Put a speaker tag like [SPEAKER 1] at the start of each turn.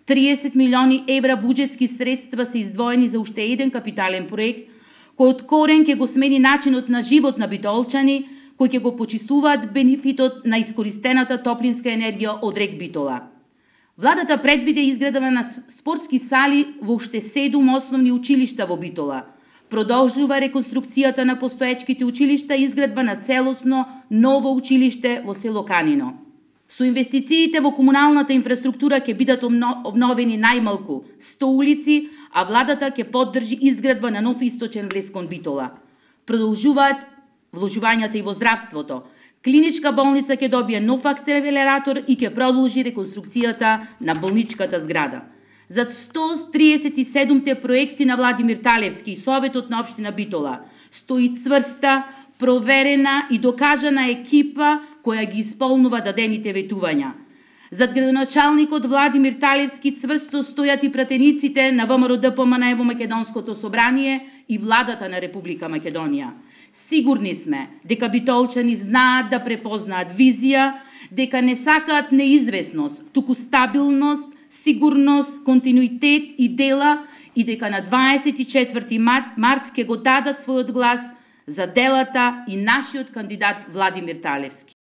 [SPEAKER 1] 30 милиони евра буџетски средства се издвоени за уште еден капитален проект, кој од корен ќе го смени начинот на живот на битолчани, кои ќе го почистуваат бенефитот на искористената топлинска енергија од рек Битола. Владата предвиде изградба на спортски сали во уште 7 основни училишта во Битола. Продолжува реконструкцијата на постоечките училишта и изградба на целосно ново училиште во село Канино. Со инвестициите во комуналната инфраструктура ќе бидат обновени најмалку 100 улици, а владата ќе поддржи изградба на нов источен влез кон Битола. Продолжуваат вложувањата и во здравството. Клиничка болница ќе добие нов акселератор и ќе продолжи реконструкцијата на болничката зграда. За 137 проекти на Владимир Талевски и Советот на општина Битола стои цврста, проверена и докажана екипа која ги исполнува дадените ветувања. Зад градоначалникот Владимир Талевски цврсто стојат и пратениците на ВМРО ДПМНЕ во Македонското собрание и владата на Република Македонија. Сигурни сме дека битолчани знаат да препознаат визија, дека не сакаат неизвестност, туку стабилност, сигурност, континуитет и дела и дека на 24 март ќе го дадат својот глас за делата и нашиот кандидат Владимир Талевски.